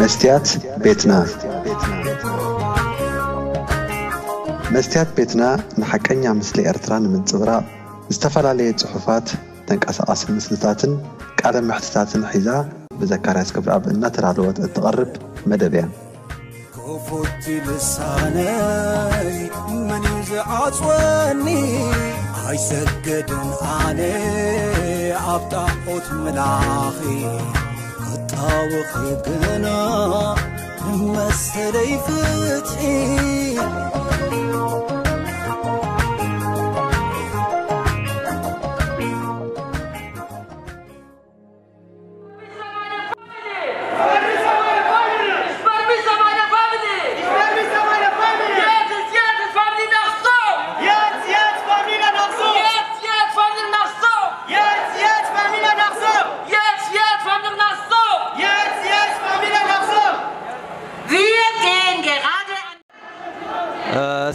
መስትያት ቤትና። መስትያት ቤትና ንሓቀኛ ምስሊ ኤርትራ ንምንጽብራቕ ዝተፈላለየ ጽሑፋት፣ ተንቀሳቓሲ ምስልታትን ቃለ መሕትታትን ሒዛ ብዘካርያስ ክብረኣብ እናተዳለወት እትቐርብ መደብ እያ። ክፉት ልሳነይ መን እዩ ዝዓጽወኒ? ኣይሰገድን ኣነ ኣብ ጣዖት ምላኺ፣ ክጣወኺ ግና ንመሰለይ ፍትሒ።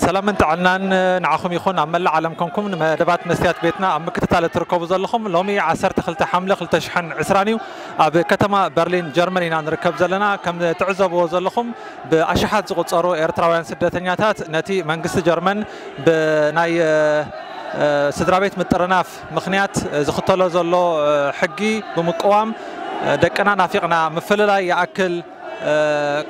ሰላምን ጥዕናን ንዓኹም ይኹን። ኣብ መላእ ዓለም ኮንኩም ንመደባት መስትያት ቤትና ኣብ ምክትታል እትርከቡ ዘለኹም፣ ሎሚ ዓሰርተ ክልተ ሓምለ ክልተ ሽሕን ዕስራን እዩ። ኣብ ከተማ በርሊን ጀርመን ኢና ንርከብ ዘለና። ከም ትዕዘብዎ ዘለኹም ብኣሽሓት ዝቑጸሩ ኤርትራውያን ስደተኛታት ነቲ መንግስቲ ጀርመን ብናይ፣ እ፣ ስድራ ቤት ምጥርናፍ ምኽንያት ዝኽተሎ ዘሎ፣ እ፣ ሕጊ ብምቅዋም፣ እ፣ ደቅና ናፊቕና፣ ምፍልላይ ይኣክል፣ እ፣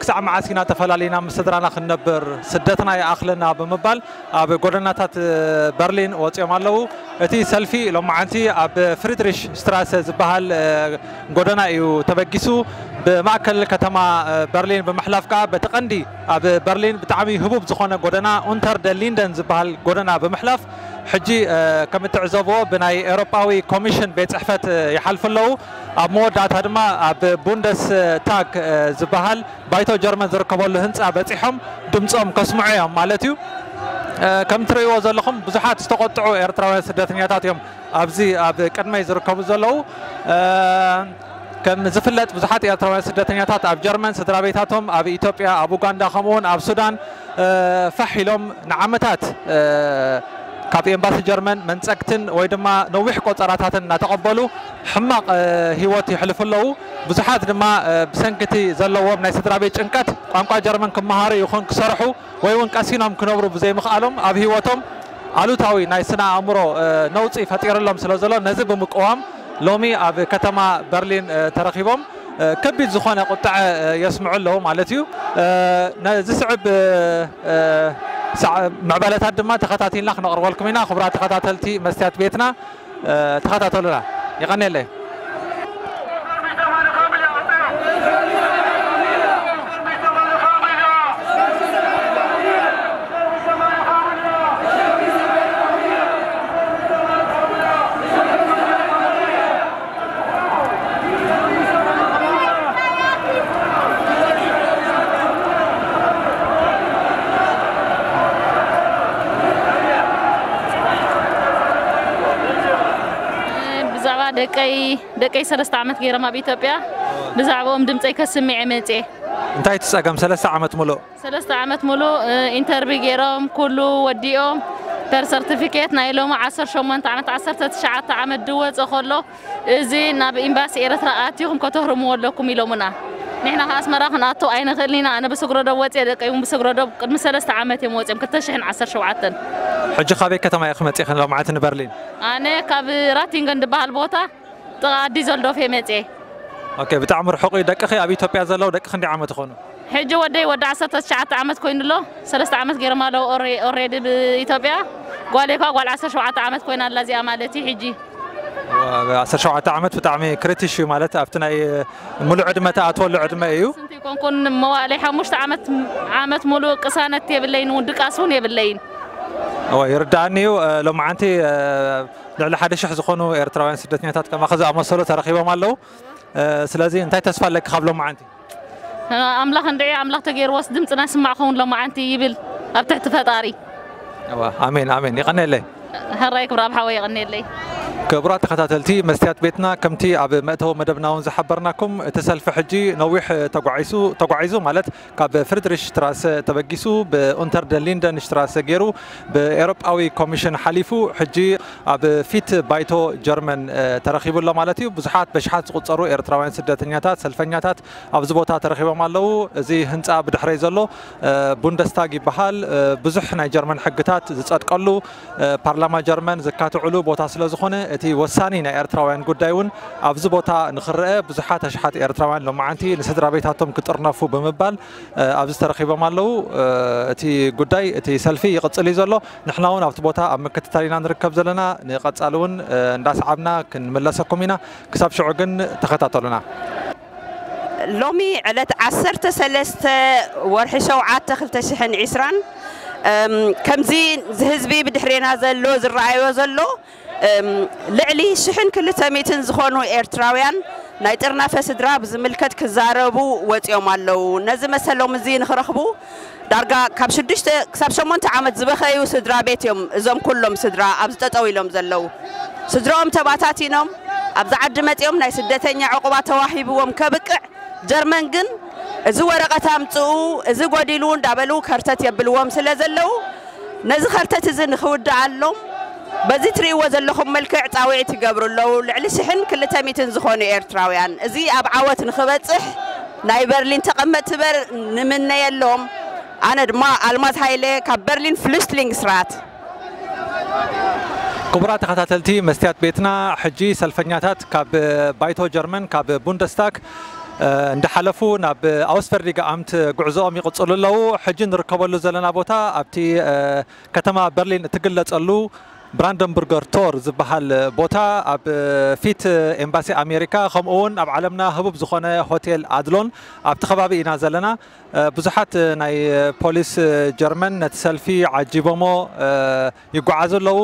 ክሳዕ መዓስ ኢና ተፈላሊና ምስ ስድራና ክንነብር? ስደትና ይኣኽለና ብምባል ኣብ ጎደናታት በርሊን ወፂኦም ኣለዉ። እቲ ሰልፊ ሎማዓንቲ ኣብ ፍሪድሪሽ ስትራሰ ዝበሃል፣ እ፣ ጎደና እዩ ተበጊሱ። ብማእከል ከተማ፣ እ፣ በርሊን ብምሕላፍ ከዓ በቲ ቀንዲ ኣብ በርሊን ብጣዕሚ ህቡብ ዝኾነ ጎደና ኡንተር ደ ሊንደን ዝበሃል ጎደና ብምሕላፍ ሕጂ፣ እ፣ ከም እትዕዘብዎ ብናይ ኤውሮጳዊ ኮሚሽን ቤት ጽሕፈት፣ እ፣ ይሓልፉ ኣለዉ። ኣብ መወዳእታ ድማ ኣብ ቡንደስ ታግ፣ እ፣ ዝበሃል ባይቶ ጀርመን ዝርከበሉ ህንፃ በፂሖም ድምፆም ከስምዑ እዮም ማለት እዩ። እ፣ ከም ትርእይዎ ዘለኹም ብዙሓት ዝተቆጥዑ ኤርትራውያን ስደተኛታት እዮም ኣብዚ ኣብ ቅድመይ ዝርከቡ ዘለዉ። እ፣ ከም ዝፍለጥ ብዙሓት ኤርትራውያን ስደተኛታት ኣብ ጀርመን ስድራ ቤታቶም ኣብ ኢትዮጵያ፣ ኣብ ኡጋንዳ ከምኡውን ኣብ ሱዳን፣ እ፣ ፋሕ ኢሎም ንዓመታት፣ እ፣ ካብ ኤምባሲ ጀርመን መንጸግትን ወይ ድማ ነዊሕ ቆጸራታትን እናተቐበሉ ሕማቕ፣ እ፣ ህይወት የሕልፉ ኣለዉ። ብዙሓት ድማ፣ እ፣ ብሰንኪ እቲ ዘለዎም ናይ ስድራ ቤት ጭንቀት ቋንቋ ጀርመን ክመሃሩ ይኹን ክሰርሑ ወይ እውን ቀሲኖም ክነብሩ ብዘይምኽኣሎም ኣብ ህይወቶም ኣሉታዊ ናይ ስነ ኣእምሮ፣ እ፣ ነውጺ ፈጢሩሎም ስለ ዘሎ ነዚ ብምቅዋም ሎሚ ኣብ ከተማ በርሊን፣ እ፣ ተረኺቦም፣ እ፣ ከቢድ ዝኾነ ቁጥዐ፣ እ፣ የስምዑ ኣለዉ ማለት እዩ። እ፣ ነዚ ስዕብ፣ እ፣ እ፣ ሳዕ-፣ ምዕባለታት ድማ ተኸታቲልና ክነቕርበልኩም ኢና። ክቡራት ተኸታተልቲ መስትያት ቤትና፣ እ፣ ተኸታተሉና። የቐንየለይ። ብዛዕባ ደቀይ፣ ደቀይ ሰለስተ ዓመት ገይሮም ኣብ ኢትዮጵያ፣ ብዛዕባኦም ድምፀይ ከስምዕ እየ መፅየ። እንታይ እቲ ጸገም? ሰለስተ ዓመት ሙሉእ? ሰለስተ ዓመት ሙሉእ፣ እ፣ ኢንተርቪው ገይሮም፣ ኩሉ ወዲኦም፣ በር ሰርቲፊኬት ናይ ሎሚ ዓሰርተ ሸሞንተ ዓመት፣ ዓሰርተ ትሽዓተ ዓመት ድወፀ ከሎ፣ እዚ ናብ ኤምባሲ ኤርትራ ኣቲኹም ከተህርምዎ ኣለኩም ኢሎምና። ንሕና ከኣ ኣስመራ ክንኣቱ ኣይንኽእልን ኢና። ኣነ ብስግረዶብ ወፅየ፣ ደቀይ እውን ብስግረዶብ ቅድሚ ሰለስተ ዓመት እዮም ወፅዮም፣ ክልተ ሽሕን ዓሰርተ ሸውዓተን። ሕጂ ካበይ ከተማ ኢኺ መፂእኺ ሎምዓንቲ ንበርሊን? ኣነ ካብ ራቲንገን ዝበሃል ቦታ ጥቓ ዲዘልዶፍ እየ መፅየ። ኦኬ፣ ብጣዕሚ ርሑቕ እዩ። ደቅኺ ኣብ ኢትዮጵያ ዘለዉ ደቂ ክንደይ ዓመት ይኾኑ? ሕጂ ወደይ ወዲ ዓሰርተ ትሽዓተ ዓመት ኮይኑ ኣሎ። ሰለስተ ዓመት ገይሮም ኣለዉ ኦሬ-፣ ኦሬዲ ብኢትዮጵያ። ጓለይ እኳ ጓል ዓሰርተ ሸውዓተ ዓመት ኮይና ኣላ እዚኣ ማለት እዩ ሕጂ። ዋ፣ ዓሰርተ ሸውዓተ ዓመት ብጣዕሚ ክሪቲሽ እዩ ማለት ኣብቲ ናይ ሙሉእ ዕድመ ትኣትወሉ ዕድመ እዩ። ስንት ይኮንኩን መዋእለይ ሓሙሽተ ዓመት፣ ዓመት ሙሉእ ቅሳነት የብለይን፣ እውን ድቃስ እውን የብለይን። እወ፣ ይርድኣኒ እዩ። እ፣ ሎማዓንቲ፣ እ፣ ልዕሊ ሓደ ሽሕ ዝኾኑ ኤርትራውያን ስደተኛታት ከማኺ ዝኣመሰሉ ተረኺቦም ኣለዉ። እ፣ ስለዚ እንታይ ተስፋ ኣለኪ ካብ ሎማዓንቲ? ኣምላኽ እንድዒ፣ ኣምላኽ ተገይርዎስ ድምፅና ይስማዕ ኸውን ሎማዓንቲ ይብል ኣብ ትሕቲ ፈጣሪ። እዋ፣ ኣሜን፣ ኣሜን። የቐንየለይ። ሕራይ ክብረኣብ ሓወይ፣ የቐንየለይ። ክቡራት ተኸታተልቲ መስትያት ቤትና፣ ከምቲ ኣብ መእተዊ መደብና እውን ዝሓበርናኩም፣ እቲ ሰልፊ ሕጂ ነዊሕ ተጓዒሱ ተጓዒዙ ማለት ካብ ፍሪድሪሽ ሽትራሰ ተበጊሱ ብኡንተር ደ ሊንደን ሽትራሰ ገይሩ ብኤውሮጳዊ ኮሚሽን ሓሊፉ ሕጂ ኣብ ፊት ባይቶ ጀርመን ተረኺቡ ኣሎ ማለት እዩ። ብዙሓት በሽሓት ዝቑጸሩ ኤርትራውያን ስደተኛታት፣ ሰልፈኛታት ኣብዚ ቦታ ተረኺቦም ኣለዉ። እዚ ህንጻ ብድሕረይ ዘሎ ቡንደስታግ ይበሃል። ብዙሕ ናይ ጀርመን ሕግታት ዝጸድቀሉ፣ ፓርላማ ጀርመን ዝካትዕሉ ቦታ ስለ ዝኾነ፣ እቲ ወሳኒ ናይ ኤርትራውያን ጉዳይ እውን ኣብዚ ቦታ ንኽረአ ብዙሓት ኣሽሓት ኤርትራውያን ሎማዓንቲ ንስድራ ቤታቶም ክጥርነፉ ብምባል ኣብዚ ተረኺቦም ኣለዉ። እቲ ጉዳይ፣ እቲ ሰልፊ ይቕጽል እዩ ዘሎ። ንሕና እውን ኣብቲ ቦታ ኣብ ምክትታል ኢና ንርከብ ዘለና። ንቐጻሊ እውን እንዳሰዓብና ክንምለሰኩም ኢና። ክሳብ ሽዑ ግን ተኸታተሉና። ሎሚ ዕለት ዓሰርተ ሰለስተ ወርሒ ሸውዓተ ክልተ ሽሕን ዕስራን፣ እም፣ ከምዚ ህዝቢ ብድሕሬና ዘሎ ዝረኣዮ ዘሎ፣ እም፣ ልዕሊ ሽሕን ክልተ ሚእትን ዝኾኑ ኤርትራውያን ናይ ጥርናፈ ስድራ ብዝምልከት ክዛረቡ ወፂኦም ኣለዉ። ነዚ መሰሎም እዚ ንኽረኽቡ ዳርጋ ካብ ሽዱሽተ ክሳብ ሸሞንተ ዓመት ዝበኸዩ ስድራ ቤት እዮም እዞም ኩሎም ስድራ ኣብዚ ጠጠው ኢሎም ዘለዉ። ስድራኦም ተባታቲኖም ኣብዚ ዓዲ መፂኦም ናይ ስደተኛ ዕቑባ ተዋሂብዎም ከብቅዕ፣ ጀርመን ግን እዚ ወረቐት ኣምፅኡ፣ እዚ ጎዲሉ እንዳበሉ ከርተት የብልዎም ስለ ዘለዉ፣ ነዚ ከርተት እዚ ንኽውድኣሎም በዚ ትርእይዎ ዘለኹም መልክዕ ፃውዒት ይገብሩ ኣለዉ። ልዕሊ ሽሕን ክልተ ሚእትን ዝኾኑ ኤርትራውያን፣ እዚ ኣብ ዓወት ንኽበፅሕ ናይ በርሊን ተቐመጥቲ በር ንምነየሎም። ኣነ ድማ ኣልማዝ ሃይለ ካብ በርሊን ፍሉስሊንግስራት። ክቡራት ተኸታተልቲ መስትያት ቤትና፣ ሕጂ ሰልፈኛታት ካብ ባይቶ ጀርመን፣ ካብ ቡንደስታግ እንዳሓለፉ ናብ ኣውስፈርዲገ ኣምት ጉዕዞኦም ይቕጽሉ ኣለዉ። ሕጂ ንርከበሉ ዘለና ቦታ ኣብቲ ከተማ በርሊን እትግለጸሉ ብራንደንቡርገር ቶር ዝበሃል ቦታ፣ ኣብ ፊት ኤምባሲ ኣሜሪካ፣ ከምኡ እውን ኣብ ዓለምና ህቡብ ዝኾነ ሆቴል ኣድሎን ኣብቲ ከባቢ ኢና ዘለና። ብዙሓት ናይ ፖሊስ ጀርመን ነቲ ሰልፊ ዓጂቦሞ ይጓዓዙ ኣለዉ።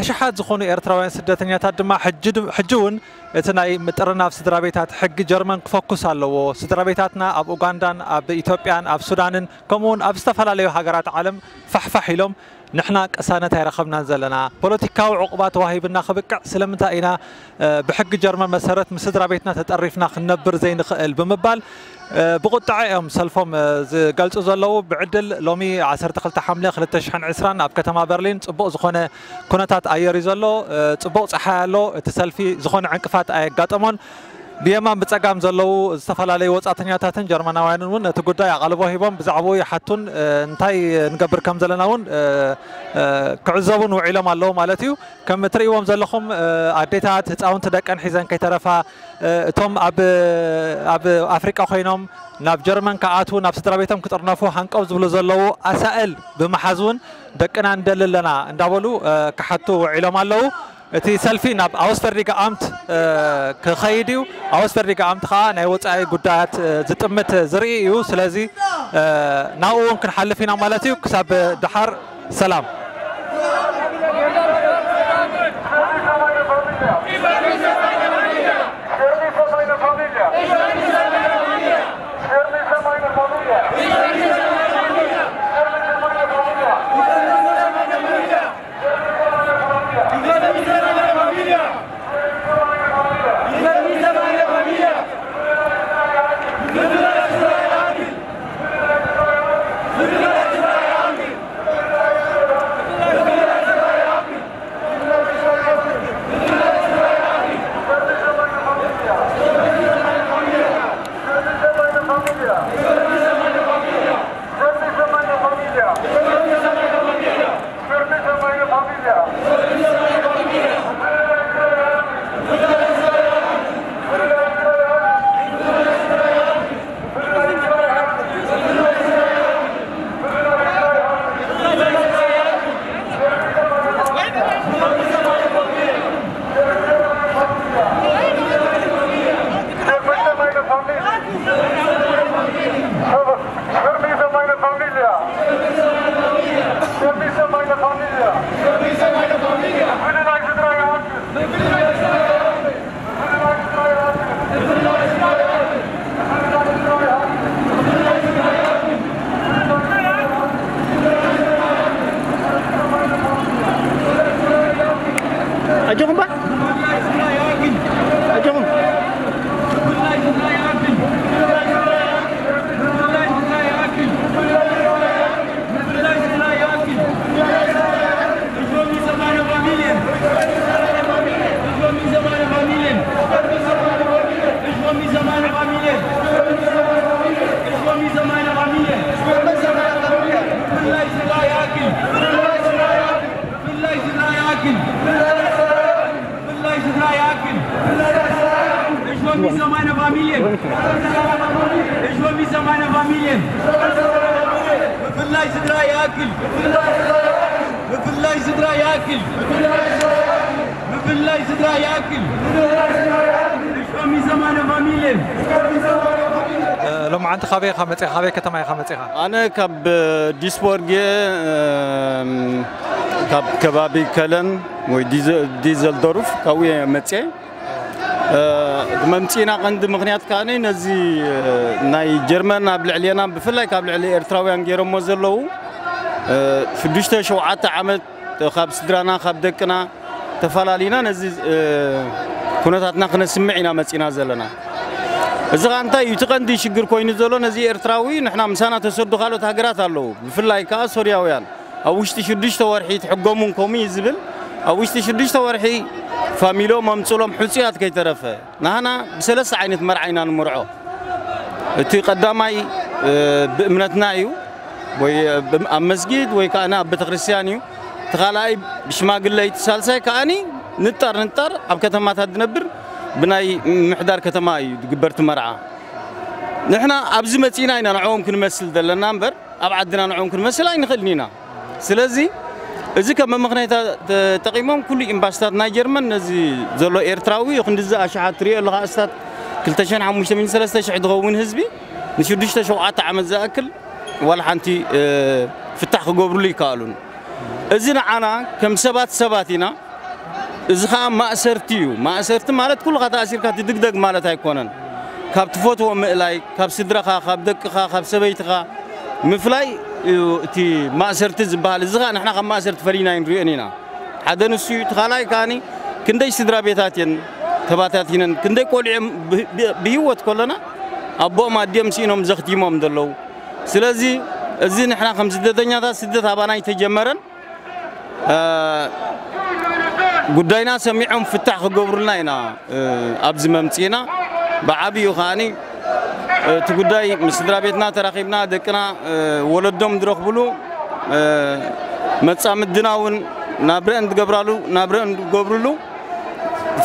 ኣሽሓት ዝኾኑ ኤርትራውያን ስደተኛታት ድማ ሕጂ ድ-፣ ሕጂ እውን እቲ ናይ ምጥርናፍ ስድራ ቤታት ሕጊ ጀርመን ክፈኩስ ኣለዎ። ስድራ ቤታትና ኣብ ኡጋንዳን ኣብ ኢትዮጵያን ኣብ ሱዳንን ከምኡ እውን ኣብ ዝተፈላለዩ ሃገራት ዓለም ፋሕፋሕ ኢሎም፣ ንሕና ቅሳነት ኣይረኸብናን ዘለና፣ ፖለቲካዊ ዕቑባ ተዋሂብና ክብቅዕ ስለምንታይ ኢና ብሕጊ ጀርመን መሰረት ምስ ስድራ ቤትና ተጠሪፍና ክንነብር ዘይንኽእል ብምባል ብቑጥዐ እዮም ሰልፎም ዝገልጹ ዘለዉ። ብዕድል ሎሚ ዓሰርተ ክልተ ሓምለ ክልተ ሽሕን ዕስራን ኣብ ከተማ በርሊን ጽቡቕ ዝኾነ ኩነታት ኣየር እዩ ዘሎ። ጽቡቕ ጸሓይ ኣሎ። እቲ ሰልፊ ዝኾነ ዕንቅፋት ኣየጋጠሞን። ብየማን ብጸጋም ዘለዉ ዝተፈላለዩ ወጻእተኛታትን ጀርመናውያንን እውን ነቲ ጉዳይ ኣቓልቦ ሂቦም ብዛዕባኡ ይሓቱን እንታይ ንገብር ከም ዘለና እውን ክዕዘቡን ውዒሎም ኣለዉ ማለት እዩ። ከም እትርእይዎም ዘለኹም ኣዴታት ህፃውንቲ ደቀን ሒዘን ከይተረፋ፣ እቶም ኣብ ኣብ ኣፍሪቃ ኮይኖም ናብ ጀርመን ክኣትዉ ናብ ስድራ ቤቶም ክጥርነፉ ሃንቀው ዝብሉ ዘለዉ ኣሳእል ብምሓዝ እውን ደቅና ንደሊ ኣለና እንዳበሉ ክሓቱ ውዒሎም ኣለዉ። እቲ ሰልፊ ናብ ኣውስፈርዲገ ኣምት ክኸይድ እዩ። ኣውስፈርዲገ ኣምት ከዓ ናይ ወፃኢ ጉዳያት ዝጥምት ዝርኢ እዩ። ስለዚ ናብኡ እውን ክንሓልፍ ኢና ማለት እዩ። ክሳብ ደሓር ሰላም። ሰማንያ ፋሚልየን። እሾሚ ሰማንያ ፋሚልየን። ምፍላይ ስድራ ይኣክል። ምፍላይ ስድራ ይኣክል። ምፍላይ ስድራ ይኣክል። እሾሚ ሰማንያ ፋሚልየን። እ፣ ሎማዓንቲ ካበይ ኢኻ መፂኻ? ካበይ ከተማ ኢኻ መፂኻ? ኣነ ካብ ዲስቦርጌ፣ እም፣ ካብ ከባቢ ከለን ወይ ዲዘ-፣ ዲዘልዶርፍ ካብኡ እየ መፅየ። እ፣ መምፅእና ቀንዲ ምኽንያት ከኣ ነዚ፣ እ፣ ናይ ጀርመን ኣብ ልዕሌና ብፍላይ ካብ ልዕሊ ኤርትራውያን ገይሮሞ ዘለዉ፣ እ፣ ሽዱሽተ ሸውዓተ ዓመት ካብ ስድራና ካብ ደቅና ተፈላሊና ነዚ፣ እ፣ ኩነታትና ክነስምዕ ኢና መፂና ዘለና። እዚ ኸኣ እንታይ እዩ እቲ ቀንዲ ሽግር ኮይኑ ዘሎ? ነዚ ኤርትራዊ ንሕና ምሳና ተሰዱ ካልኦት ሃገራት ኣለዉ፣ ብፍላይ ከኣ ሶርያውያን ኣብ ውሽጢ ሽዱሽተ ወርሒ ትሕጎሙን ከምኡ እዩ ዝብል። ኣብ ውሽጢ ሽዱሽተ ወርሒ ፋሚሎም ኣምፅሎም ሕፁያት ከይተረፈ ናህና ብሰለስተ ዓይነት መርዓ ኢና ንምርዖ። እቲ ቀዳማይ፣ እ፣ ብእምነትና እዩ፣ ወይ ብ-፣ ኣብ መስጊድ ወይ ከኣ ኣብ ቤተክርስትያን እዩ። እቲ ካልኣይ ብሽማግለ እዩ። እቲ ሳልሳይ ከኣኒ ንጣር ንጣር ኣብ ከተማታት ዝነብር ብናይ ምሕዳር ከተማ እዩ ዝግበር እቲ መርዓ። ንሕና ኣብዚ መጺእና ኢና ንዕኦም ክንመስል ዘለና እምበር ኣብ ዓድና ንዕኦም ክንመስል ኣይንኽእልን ኢና። ስለዚ እዚ ከም መመኽነይታ ተጠቒሞም ኩሉ ኤምባስታት ናይ ጀርመን ነዚ ዘሎ ኤርትራዊ ክንድዚ ኣሽሓት ትሪኦ ኣለኻ ኣስታት ክልተ ሽሕን ሓሙሽተ ሚእትን ሰለስተ ሽሕ ዝኸውን ህዝቢ ንሽዱሽተ ሸውዓተ ዓመት ዝኣክል ዋላ ሓንቲ፣ እ፣ ፍታሕ ክገብርሉ ይከኣሉን። እዚ ንዓና ከም ሰባት ሰባት ኢና። እዚ ኸኣ ማእሰርቲ እዩ። ማእሰርቲ ማለት ኩልኻ ተኣሲርካ ትድግደግ ማለት ኣይኮነን። ካብ ትፈትዎ ምእላይ፣ ካብ ስድራኻ፣ ካብ ደቅኻ፣ ካብ ሰበይትኻ ምፍላይ እዩ እቲ ማእሰርቲ ዝበሃል። እዚ ኸኣ ንሕና ካብ ማእሰርቲ ፈሊና ኣይንሪኦን ኢና። ሓደ ንሱ እዩ። እቲ ካልኣይ ከኣኒ ክንደይ ስድራ ቤታት እየን ተባታቲነን፣ ክንደይ ቆልዑ ብ-፣ ብ-፣ ብህይወት ከለና ኣቦኦም ኣዲኦም ስኢኖም ዘኽቲሞም ዘለዉ። ስለዚ እዚ ንሕና ከም ስደተኛታት ስደት ኣባና ኣይተጀመረን። እ፣ ጉዳይና ሰሚዖም ፍታሕ ክገብሩልና ኢና፣ እ፣ ኣብዚ መምጺእና። ብዓብዩ ከኣኒ እቲ ጉዳይ ምስ ስድራ ቤትና ተራኺብና ደቅና፣ እ፣ ወለዶም ዝረኽብሉ፣ እ፣ መጻምድና እውን ናብረአን ዝገብራሉ፣ ናብረአን ዝገብርሉ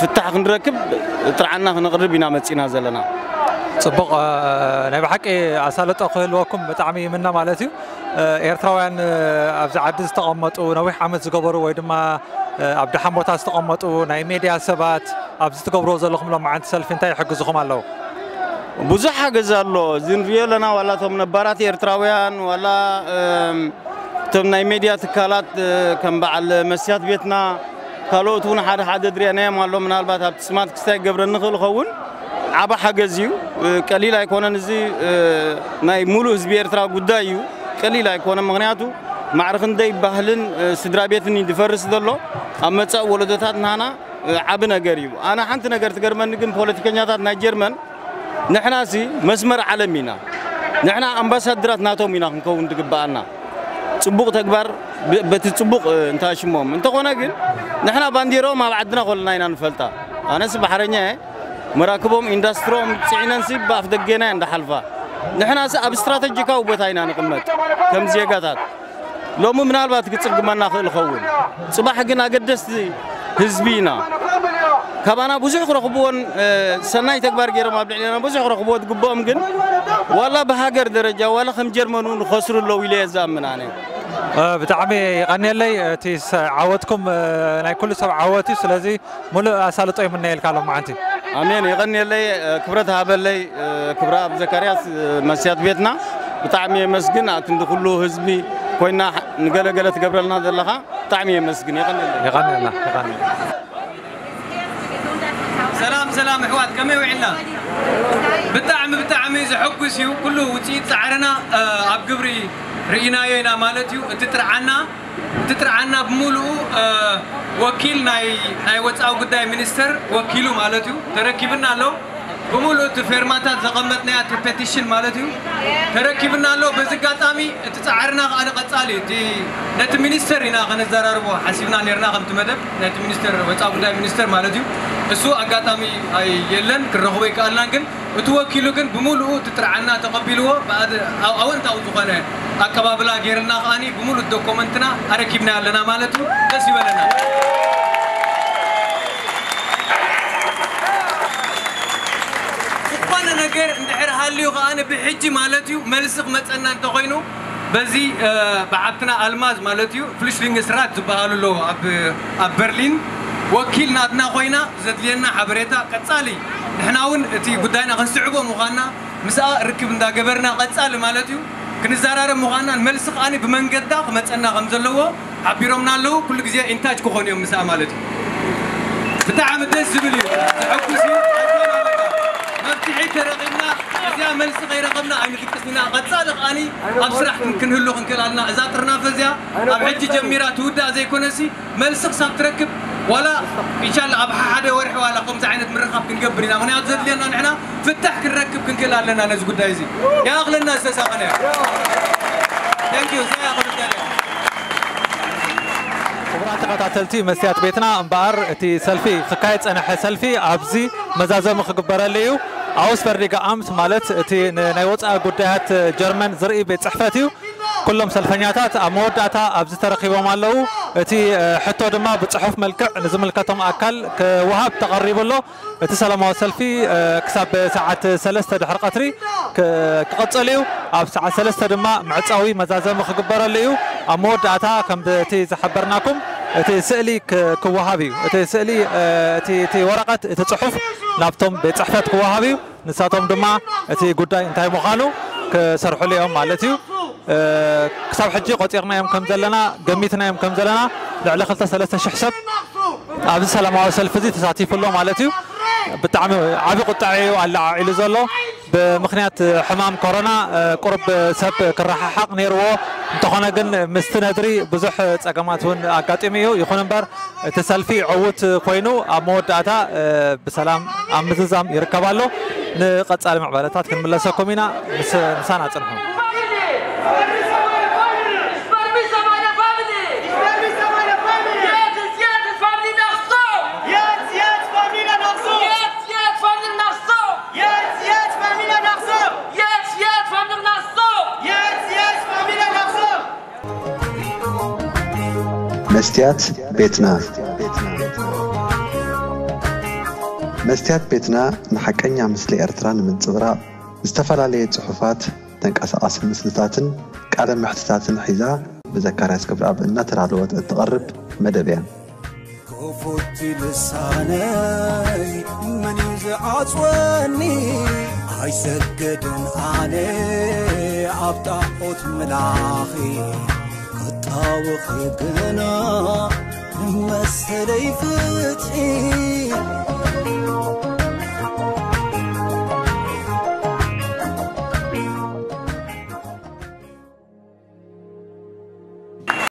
ፍታሕ ክንረክብ ጥርዓና ክነቕርብ ኢና መጺእና ዘለና። ጽቡቕ፣ እ፣ ናይ ብሓቂ ኣሳልጦ ክህልወኩም ብጣዕሚ ይምነ ማለት እዩ። እ፣ ኤርትራውያን፣ እ፣ ኣብዚ ዓዲ ዝተቐመጡ ነዊሕ ዓመት ዝገበሩ ወይ ድማ፣ እ፣ ኣብ ደሓን ቦታ ዝተቐመጡ ናይ ሜድያ ሰባት ኣብዚ ትገብርዎ ዘለኹም ሎማዓንቲ ሰልፊ እንታይ ይሕግዝኹም ኣለዉ? ብዙሕ ሓገዝ ኣሎ። እዚ ንሪኦ ኣለና፣ ዋላ እቶም ነባራት ኤርትራውያን፣ ዋላ፣ እም፣ እቶም ናይ ሜድያ ትካላት፣ እ፣ ከም በዓል መስያት ቤትና፣ ካልኦት እውን ሓደ ሓደ ድሪአናዮም ኣሎ። ምናልባት ኣብቲ ስማት ክስታይ ክገብረ ንኽእል ኸውን ዓቢ ሓገዝ እዩ። እ፣ ቀሊል ኣይኮነን። እዚ፣ እ፣ ናይ ሙሉእ ህዝቢ ኤርትራ ጉዳይ እዩ። ቀሊል ኣይኮነን። ምኽንያቱ ማዕረ ክንደይ ባህልን፣ እ፣ ስድራ ቤትን እዩ ዝፈርስ ዘሎ። ኣብ መጻኢ ወለዶታት ንሃና፣ እ፣ ዓቢ ነገር እዩ። ኣነ ሓንቲ ነገር ትገርመኒ ግን ፖለቲከኛታት ናይ ጀርመን ንሕናሲ መስመር ዓለም ኢና። ንሕና ኣምባሳድራት ናቶም ኢና ክንከውን ዝግብኣና። ጽቡቕ ተግባር ብ-፣ በቲ ጽቡቕ፣ እ፣ እንተኣሽሞም። እንተኾነ ግን ንሕና ባንዲራኦም ኣብ ዓድና ከለና ኢና ንፈልጣ። ኣነስ ባሕረኛ እየ። መራክቦም ኢንዳስትሮም ጽዒነንሲ ብኣፍ ደገና እየን ዝሓልፋ። ንሕናሲ ኣብ ስትራተጂካዊ ቦታ ኢና ንቕመጥ ከም ዜጋታት። ሎሚ ምናልባት ክጽግመና ክእል ኸውን። ጽባሕ ግን ኣገደስቲ ህዝቢ ኢና። ካባና ብዙሕ ክረኽብዎን፣ እ፣ ሰናይ ተግባር ገይሮም ኣብ ልዕሌና ብዙሕ ክረኽብዎ ዝግብኦም ግን ዋላ ብሃገር ደረጃ ዋላ ከም ጀርመን እውን ክኸስሩ ኣለዉ ኢለ እየ ዝኣምን ኣነ። እ፣ ብጣዕሚ ይቐንየለይ። እቲ ሰ-፣ ዓወትኩም፣ እ፣ ናይ ኩሉ ሰብ ዓወት እዩ። ስለዚ ሙሉእ ኣሳልጦ ይምነየልካ ሎማዓንቲ። ኣሜን። የቐንየለይ፣ እ፣ ክብረት ሃበለይ፣ እ፣ ክብረ ኣብ ዘካርያስ፣ እ፣ መስያት ቤትና ብጣዕሚ የመስግን። ኣብ ክንዲ ኩሉ ህዝቢ ኮይና ንገለገለ ትገብረልና ዘለኻ ብጣዕሚ የመስግን። የቐንየለይ። የቐንየልና፣ የቐንየልና። ሰላም ሰላም ኣሕዋት፣ ከመይ ውዒልና? ብጣዕሚ ብጣዕሚ ዘሐጉስ እዩ። ኩሉ ውፅኢት ፃዕርና፣ እ፣ ኣብ ግብሪ ርኢናዮ ኢና ማለት እዩ። እቲ ጥርዓና፣ እቲ ጥርዓና ብምሉኡ፣ እ፣ ወኪል ናይ፣ ናይ ወፃኢ ጉዳይ ሚኒስተር ወኪሉ ማለት እዩ ተረኪብና ኣሎ። ብምሉእ እቲ ፌርማታት ዘቐመጥናያ እቲ ፔቲሽን ማለት እዩ ተረኪብና ኣሎ። በዚ ኣጋጣሚ እቲ ጻዕርና ከኣ ንቐጻሊ፣ እቲ ነቲ ሚኒስተር ኢና ከነዘራርቦ ሓሲብና ኔርና፣ ከምቲ መደብ ናይቲ ሚኒስተር፣ ወጻኢ ጉዳይ ሚኒስተር ማለት እዩ። እሱ ኣጋጣሚ ኣይ-፣ የለን፣ ክንረኽቦ ኣይከኣልናን። ግን እቲ ወኪሉ ግን ብምሉኡ እቲ ጥርዓና ተቐቢልዎ፣ ብኣድ-፣ ኣው-፣ ኣወንታዊ ዝኾነ ኣቀባብላ ጌርና ከኣኒ ብምሉእ ዶኮመንትና ኣረኪብና ኣለና ማለት እዩ። ደስ ይበለና። ነገር እንድሕር ሃልዩ ከኣ ብሕጂ ማለት እዩ መልሲ ክመጸና እንተኾይኑ በዚ ብዓብትና ኣልማዝ ማለት እዩ ፍሉሽሊንግስራት ዝበሃሉ ኣለዉ ኣብ ኣብ በርሊን ወኪል ናትና ኮይና ዘድልየና ሓበሬታ ቀጻሊ ንሕና እውን እቲ ጉዳይና ክንስዕቦ ምዃንና ምስኣ ርክብ እንዳገበርና ቀጻሊ ማለት እዩ ክንዘራረብ ምዃንናን መልሲ ከኣ ብመንገዳ ክመጸና ከም ዘለዎ ሓቢሮምና ኣለዉ። ኩሉ ግዜ ኢንታች ክኾኑ እዮም ምስኣ ማለት እዩ። ብጣዕሚ ደስ ዝብል እዩ። ዘሐጉስ እዩ። መፍትሒ ተረኺብና እዚኣ መልሲ ከይረኸብና ኣይንድቅስን ኢና። ቀጻሊ ከኣ ኣብ ስራሕ ክን- ክንህሉ ክንክእል ኣለና። እዛ ጥርናፈ እዚኣ ኣብ ሕጂ ጀሚራ ትውዳእ ዘይኮነሲ መልሲ ክሳብ ትረክብ ዋላ ኢንሻላ ኣብ ሓደ ወርሒ ዋላ ከምዚ ዓይነት ምርኻብ ክንገብር ኢና። ምክንያቱ ዘድልየና ንሕና ፍታሕ ክንረክብ ክንክእል ኣለና ነዚ ጉዳይ እዚ። ይኣኽለና ዝተሳኸነ። Thank you። እዚኣ እያ ክልተ እያ። ክቡራት ተኸታተልቲ መስትያት ቤትና እምበኣር እቲ ሰልፊ ክካየድ ጸንሐ ሰልፊ ኣብዚ መዛዘሚ ክግበረሉ እዩ። ኣውስበርዲገ ኣምት ማለት እቲ ናይ ወፃኢ ጉዳያት ጀርመን ዝርኢ ቤት ፅሕፈት እዩ። ኩሎም ሰልፈኛታት ኣብ መወዳእታ ኣብዚ ተረኺቦም ኣለዉ። እቲ ሕቶ ድማ ብፅሑፍ መልክዕ ንዝምልከቶም ኣካል ክወሃብ ተቐሪቡ ኣሎ። እቲ ሰላማዊ ሰልፊ ክሳብ ሰዓት ሰለስተ ድሕሪ ቀትሪ ክቕፅል እዩ። ኣብ ሰዓት ሰለስተ ድማ ምዕፃዊ መዛዘሚ ክግበረሉ እዩ። ኣብ መወዳእታ ከምቲ ዝሓበርናኩም እቲ ስእሊ ክወሃብ እዩ። እቲ ስእሊ እቲ ወረቐት እቲ ፅሑፍ ናብቶም ቤት ፅሕፈት ክወሃብ እዩ። ንሳቶም ድማ እቲ ጉዳይ እንታይ ምዃኑ ክሰርሕሉ እዮም ማለት እዩ። ክሳብ ሕጂ ቆፂርናዮም ከም ዘለና ገሚትናዮም ከም ዘለና ልዕሊ ክልተ ሰለስተ ሽሕ ሰብ ኣብዚ ሰላማዊ ሰልፊ እዚ ተሳቲፉ ኣሎ ማለት እዩ። ብጣዕሚ ዓቢ ቁጥዐ እዩ ኣለዓዒሉ ዘሎ። ብምኽንያት ሕማም ኮሮና ቁሩብ ሰብ ክረሓሓቕ ነይርዎ። እንተኾነ ግን ምስቲ ነድሪ ብዙሕ ጸገማት እውን ኣጋጢሙ እዩ። ይኹን እምበር እቲ ሰልፊ ዕዉት ኮይኑ ኣብ መወዳእታ ብሰላም ኣብ ምዝዛም ይርከብ ኣሎ። ንቐጻሊ ምዕባለታት ክንምለሰኩም ኢና። ምስ- ምሳና ጽንሑ። መስትያት ቤትና። መስትያት ቤትና ንሓቀኛ ምስሊ ኤርትራ ንምንጽብራቕ ዝተፈላለየ ጽሑፋት፣ ተንቀሳቓሲ ምስልታትን ቃለ መሕትታትን ሒዛ ብዘካርያስ ገብረኣብ እናተዳለወት እትቐርብ መደብ እያ። ክፉት ልሳነይ መን እዩ ዝዓጽወኒ? ኣይሰግድን ኣነ ኣብ ጣዖት ምላኺ ክጣወኺ ግና መሰለይ ፍትሒ